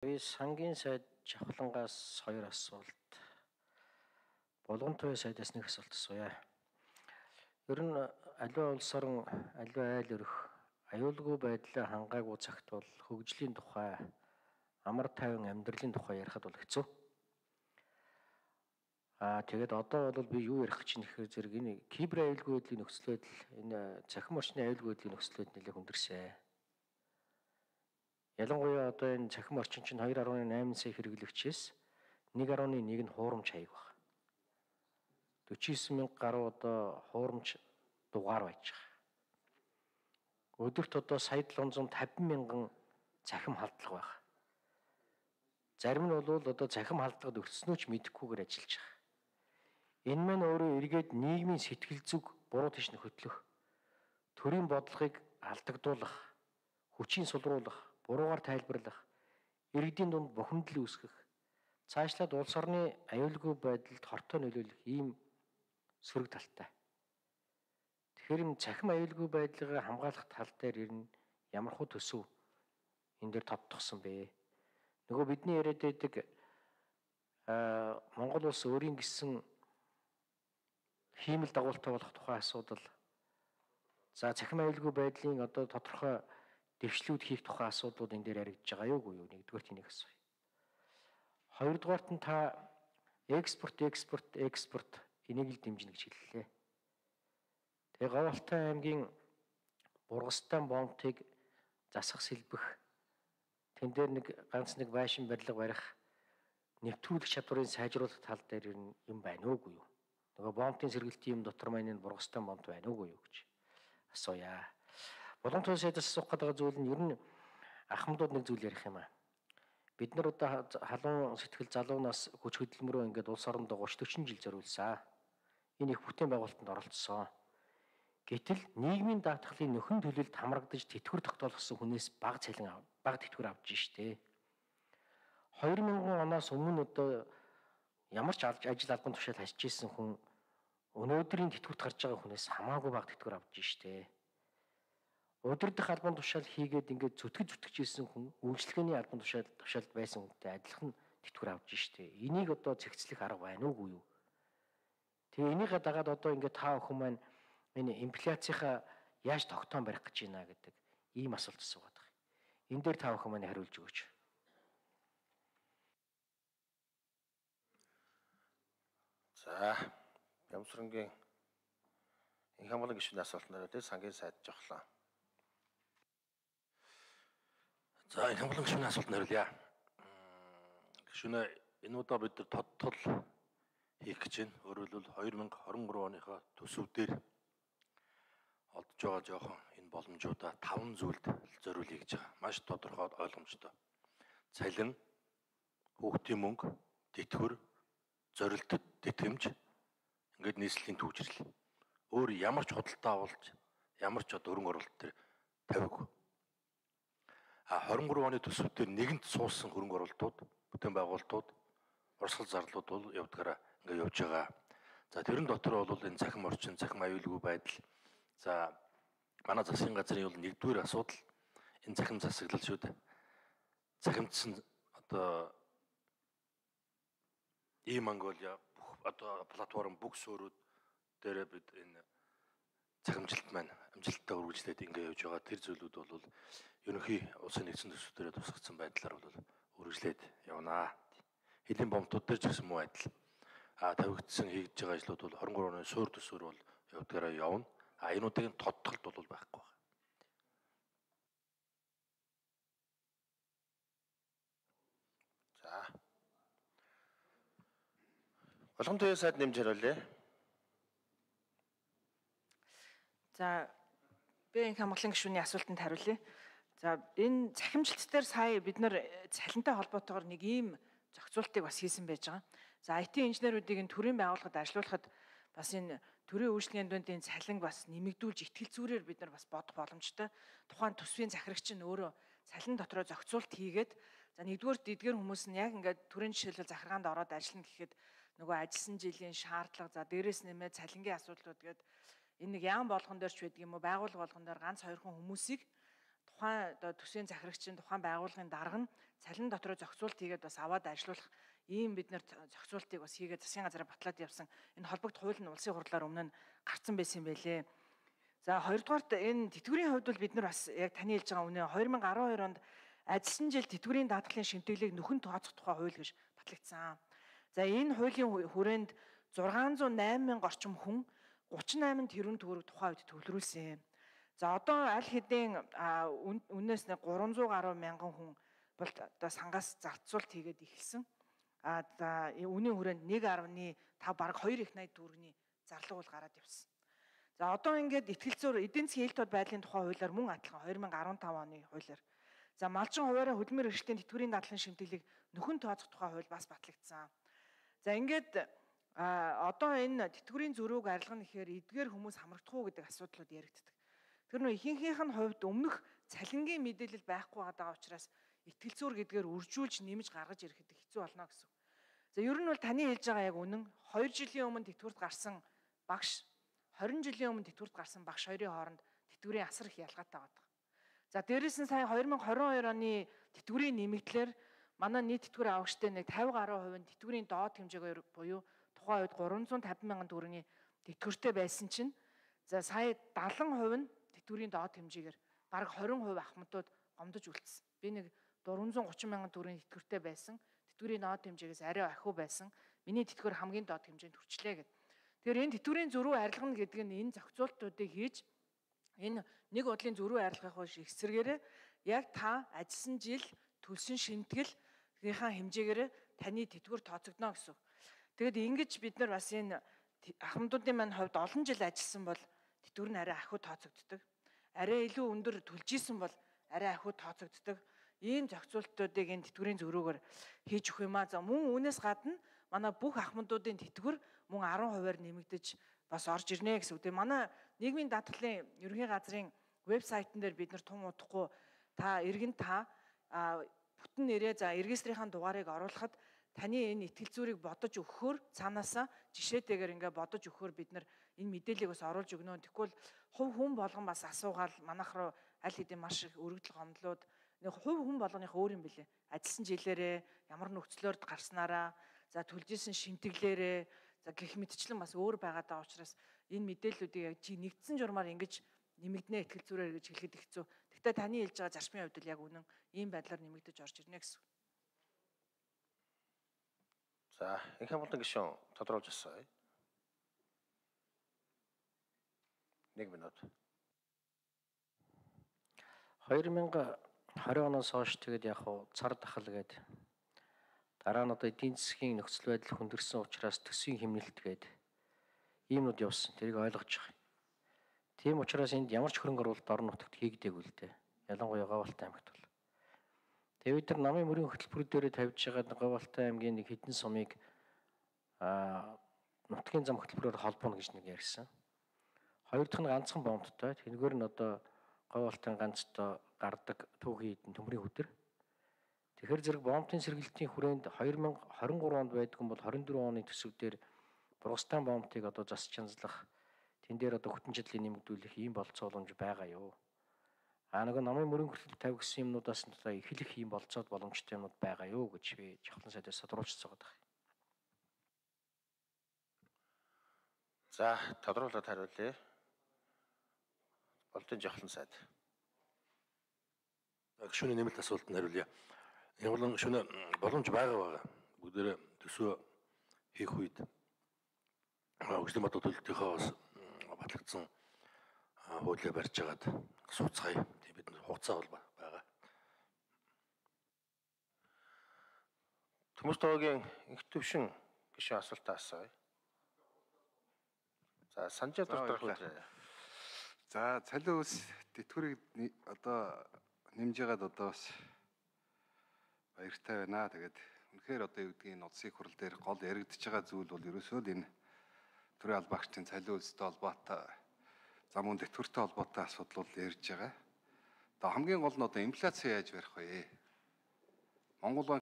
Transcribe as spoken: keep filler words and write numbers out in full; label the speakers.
Speaker 1: Би сангийн сайд Жавхлангаас хоёр асуулт. Булган туяа сайдаас нэг асуулт асууя. Ер нь аливаа улс орон аливаа айл өрх аюулгүй байдлаа хангаагүй цагт бол хөгжлийн тухай, амар тайван амьдралын тухай ярихад бол хэцүү. Аа тэгээд одоо бол би юу ярих гэж нэхэр зэрэг энэ кибер аюулгүй байдлын нөхцөл байдал, энэ цахим орчны аюулгүй байдлын нөхцөл байдал нэлээд хүндэрсэн. Ялангуяа одоо энэ цахим орчин чинь two point eight сая хэрэглэгчээс one point one нь хуурамч хаяг байна. forty-nine мянга гаруй одоо хуурамч дугаар байж байгаа. Өдөрт одоо сая seven hundred fifty мянган цахим халдлага байна. Зарим нь бол одоо цахим халдлагад өртснөө ч мэдэхгүйгээр ажиллаж байгаа. Энэ маань өөрөө эргээд нийгмийн сэтгэл зүг буруу тийш хөтлөх, төрийн бодлогыг алдагдуулах, хүчийн сулруулах, буруугаар тайлбарлах, иргэдийн дунд бухимдал үүсгэх, цаашлаад улс орны аюулгүй байдалд хортой нөлөөлөх ийм сөрөг талтай. Тэгэхээр энэ цахим аюулгүй байдлыг хамгаалах тал дээр ер нь ямар хөө төсөв энэ дээр тодтогсон бэ? Нөгөө бидний яриад байдаг аа Монгол улс өөрийн гэсэн хиймэл дагуултай болох тухай асуудал. За цахим аюулгүй байдлын одоо тодорхой дэвшлүүд хийх тухай асуудлууд энэ дээр яригдж байгаа юу юу? Нэгдүгээр тэнийг асууя. Хоёрдугаарт нь та экспорт, экспорт, экспорт энийг л дэмжинэ гэж хэллээ. Тэгээ Говьалтай аймгийн Бургастан бомтыг засах сэлбэх, тэн дээр нэг ганц нэг байшин барилга барих, нэвтрүүлэх чадварыг сайжруулах тал дээр юм байна уугүй юу? Нөгөө бомтын сэргэлтийн юм дотор маань энэ Бургастан бомт байна уугүй юу гэж асууя. Булган туяа сайдаас асуух гэдэг зүйл нь ер нь ахмадууд нэг зүйл ярих юм аа. Бид нар одоо халуун сэтгэл залуунаас хүч хөдөлмөрөө ингээд улс орондоо thirty forty жил зориулсан. Энэ их бүтээн байгуулалтанд оролцсон. Гэтэл нийгмийн даатгалын нөхөн төлөлд хамрагдаж тэтгэвэр тогтоолгосон хүнээс бага цалин бага тэтгэвэр авч штэ. two thousand оноос өмнө одоо ямар ч ажил албан тушаал хасж ирсэн хүн өнөөдрийн тэтгэврт гарч байгаа хүнээс хамаагүй бага тэтгэвэр авч штэ. Удирдах албан тушаал хийгээд ингээд зүтгэж зүтгэж ирсэн хүн үйлчлэгээний албан тушаал тушаалд байсан хүнтэй адилхан тэтгэвэр авч штэ. Энийг одоо зэгцлэх арга байна уугүй юу? Тэгээ энийг дагаад одоо ингээд та бүхэн маань энэ инфляцийнхаа яаж тогтоон барих гэж байна гэдэг ийм асуулт асуугаад байгаа. Энэ дээр та бүхэн маань хариулж өгөөч.
Speaker 2: За, Ямсрангийн энэ хамгаалал гишүүний асуулт нараа дээр сангийн сайд жохлоо. За, энэ хамгаалал гишүүний асуулт хариулъя. Гишүүнээ энэ удаа бид нар тодтол хийх гэж байна. Өөрөөр хэлбэл two thousand twenty-three оныхоо төсөвдөр олдж байгаа жоохон энэ боломжуудаа таван зүйлд зориулъя гэж байгаа. Маш тодорхой ойлгомжтой. Цалин, хүүхдийн мөнгө, тэтгэвэр, зорилтод тэтгэмж, ингээд нийслэлийн төвчрэл. Өөр ямар ч худалдаа авалт, ямар ч одоо хөрөнгө оруулалт төр тавиагүй. А twenty-three оны төсөвдөр нэгэнт суусан хөрөнгө оруулалтууд, бүтээн байгуулалтууд, урсгал зарлууд бол явдгаараа ингээд явж байгаа. За тэрэн дотор бол энэ цахим орчин, цахим аюулгүй байдал. За манай засгийн газрын бол нэгдүгээр асуудал энэ цахим засаглал шүү дээ. Цахимдсан одоо E-Mongolia бүх одоо платформ бүх суурьуд дээр бид энэ цахимжилт маань амжилттай үргэлжлээд ингээд явж байгаа. Тэр зүйлүүд бол ерөнхий улсын нэгдсэн төсвүүдээр тусгацсан байдлаар бол үргэлжлээд явнаа. Хэлийн бомтууд дээр ч гэсэн муу адил. А тавигдсан хийгдэж байгаа ажлууд бол twenty-three оны суур төсвөр бол явдгаараа явна. А энүүдийн тодтолт бол байхгүй байна. За. Булган туяа сайд нэмж хариулъя.
Speaker 3: За би энэ хамгааллын гишүүний асуултанд хариулъя. За энэ цахимжилт дээр сая бид нар цалинтай холбоотойгоор нэг ийм зохицуултыг бас хийсэн байж байгаа. За ай ти инженеруудыг энэ төрийн байгууллагад ажилуулахад бас энэ төрийн үйлчлэгийн дунд энэ цалин бас нэмэгдүүлж ихтгэл зүйрээр бид нар бас бодох боломжтой. Тухайн төсвийн захирагч нь өөрөө цалин дотроо зохицуулт хийгээд за нэгдүгээр эдгээр хүмүүс нь яг ингээд төрийн жишээлбэл захиргаанд ороод ажиллана гэхэд нөгөө ажилласан жилийн шаардлага за дээрээс нэмээд цалингийн асуудлууд гээд энэ нэг яам болгон дээр ч байдаг юм уу байгууллага болгон дээр ганц хоёр хүн хүмүүсийг тухайн одоо төсвийн захирагчийн тухайн байгууллагын дарга нь цалин дотроо зохицуулт хийгээд бас аваад ажилуулах ийм бид нэр зохицуултыг бас хийгээд засгийн газараа батлаад явсан. Энэ холбогд хууль нь улсын хурлаар өмнө нь гарцсан байсан юм байлээ. За хоёрдугаарт энэ тэтгэврийн хувьд бол бид нар бас яг таны хэлж байгаа үнэ хоёр мянга арван хоёр онд ажилласан жил тэтгэврийн даатгалын шимтгэлийг нөхөн тооцох тухай хууль гэж батлагдсан. За энэ хуулийн хүрээнд зургаан зуун найман мянга орчим хүн гучин найман тэрбум төгрөг тухайн үед төвлөрүүлсэн. За одоо аль хэдийн үнээс нэг гурван зуун гаруй мянган хүн бол одоо сангаас зарцуулт хийгээд эхэлсэн. А за үнийн хүрээнд нэг гаруй тав бараг хоёр их найд төгрөгийн зарлага бол гараад явсан. За одоо ингээд итгэл зүйн эдийн засгийн ил тод байдлын тухай хуулиар мөн адилхан хоёр мянга арван тав оны хуулиар. За малчин хуваараа хөдөлмөр эрхлэлийн тэтгэврийн дадлын шимтгэлийг нөхөн тооцох тухай хууль бас батлагдсан. За ингээд одоо энэ тэтгэврийн зөрүүг арилгана гэхээр эдгээр хүмүүс хамрагдах уу гэдэг асуудлууд яригддаг. Тэр нөө ихэнхийнх нь хувьд өмнөх цалингийн мэдээлэл байхгүй байгаа учраас итгэл зүйр гэдгээр үржүүлж нэмж гаргаж ирэхэд хэцүү болно гэсэн. За ер нь бол таны хэлж байгаа яг үнэн. хоёр жилийн өмнө тэтгэврт гарсан багш хорин жилийн өмнө тэтгэврт гарсан багш хоёрын хооронд тэтгэврийн асар их ялгаатай байдаг. За дээрээс нь сая хоёр мянга хорин хоёр оны тэтгэврийн нэмэгдлэр манай нийт тэтгэврийн авагчтай нэг тавин гаруй хувийн тэтгэврийн доод хэмжээгээр буюу тухайн үед гурван зуун тавин мянган төгрөгийн тэтгэвртэй байсан чинь за сая дагалан хувь нь тэтгэврийн доод хэмжээгээр бараг хорин хувь ахмадууд гомдож үлдсэн. Би нэг дөрвөн зуун гучин мянган төгрөгийн тэтгэвртэй байсан. Тэтгэврийн доод хэмжээгээс арай ахиу байсан. Миний тэтгэвэр хамгийн доод хэмжээнд хүрчлээ гэдэг. Тэгэхээр энэ тэтгэврийн зөрүү арилгана гэдэг нь энэ зохицуултуудыг хийж энэ нэг бодлын зөрүү арилгах биш эсрэгээрээ яг та ажилласан жил төлсөн шимтгэлийнхаа хэмжээгээр таны тэтгэвэр тооцогдно гэсэн. Тэгэд ингэж бид нар бас энэ ахмадуудын маань хувьд олон жил ажилласан бол тэтгэвэр нь арай ахиу тооцогддог. Арай илүү өндөр төлж исэн бол арай ахиу тооцогддог. Ийм зохицуултуудыг энэ тэтгэврийн зөрүүгээр хийж өгөх юм аа. За мөн үүнээс гадна манай бүх ахмадуудын тэтгэвэр мөн арван хувиар нэмэгдэж бас орж ирнэ гэсэн үг. Тэгээ манай нийгмийн даатгалын ерөнхий газрын вебсайтн дээр бид нар тун удахгүй та иргэн та бүтэн нэрээ за регистрийн дугаарыг оруулахад таны энэ итгэл зүйрийг бодож өгөхөөр цаанаасаа жишээтэйгээр ингээ бодож өгөхөөр бид нар энэ мэдээллийг бас оруулж өгнө. Тэгвэл хувь хүн болгон бас асуугаал манайх руу аль хэдийн маш их өргөдөл гомдлууд нэг хувь хүн болгоных өөр юм бэлээ. Ажилласан жилээрээ ямар нөхцлөөр гарснараа за төлжсэн шимтгэлээрээ за гэх мэтчлэн бас өөр байгаад байгаа учраас энэ мэдээллүүдийг яг чи нэгдсэн журмаар ингэж нэмэгдэнэ итгэл зүйрээр гэж хэлэхэд хэцүү. Гэхдээ таны хэлж байгаа зарчмын хувьд л яг үнэн ийм байдлаар нэмэгдэж орж ирнэ гэсэн.
Speaker 4: За, энэхүү болон гишүүн тодруулж асууя. Нэг минут.
Speaker 1: хоёр мянга хорин оноос хойш тэгээд яг хуу цар тахал гээд дараа нь одоо эдийн засгийн нөхцөл байдал хүндэрсэн учраас төсвийн хэмнэлт гээд иймнүүд явсан. Тэрийг ойлгож байгаа. Тийм учраас энд ямар ч хөрөнгө оруулалт орон нутагт хийгдээгүй л дээ. Ялангуяа Говьалтай аймагт бол. Тэгээд бид нар намын мөрийн хөтөлбөр дээрээ тавьж байгаа Говьалтай аймгийн нэг хэдэн сумыг аа нутгийн зам хөтөлбөрөөр холбооно гэж нэг ярьсан. Хоёр дахь нь ганцхан бомттой. Тэнгүүр нь одоо Говьалтын ганцтай гардаг түүхийн эдэн төмрийн хөдөр. Тэгэхээр зэрэг бомтын сэргэлтийн хүрээнд хоёр мянга хорин гурав онд байдаг бол хорин дөрөв оны төсөв дээр Бургастан бомтыг одоо зас чанзлах тэн дээр одоо хүтэн чадлыг нэмэгдүүлэх ийм болцоо боломж байгаа юу? А нөгөө намын мөрийн хөтөлбөр тавьсан юмнуудаас нь одоо эхлэх ийм болцоод боломжтой юмнууд байгаа юу гэж би жавхлан сайдаас тодруулчихсан байгаа.
Speaker 4: За, тодруулаад хариулъя. Болтын жавхлан сайд.
Speaker 2: Гишүүний нэмэлт асуултанд хариулъя. Энэ болон гишүүнээ боломж байгаа байгаа. Бүгдээрээ төсөө хийх үед хөгжлийн бод төлөлтийнхөө бас батлагдсан хуулиа барьж агаад сууцгаая. Тийм бид нар хугацаа бол байгаа.
Speaker 4: Төмөс тоогийн инх төвшин гишүүн асуултаа асууя. За, санжаа дуртай.
Speaker 5: За, цалин ус тэтгэврийг одоо нэмж яагаад одоо бас баяртай байна. Тэгээд үнэхээр одоо юу гэдгийг нутгийн хурал дээр гол яригдчихэж байгаа зүйл бол ерөөсөө л энэ төрийн албаагчдын цалин үлстэй холбоотой зам үн тэтгэвртэй холбоотой асуудал бол ярьж байгаа. Одоо хамгийн гол нь одоо инфляци яаж барих вэ? Монгол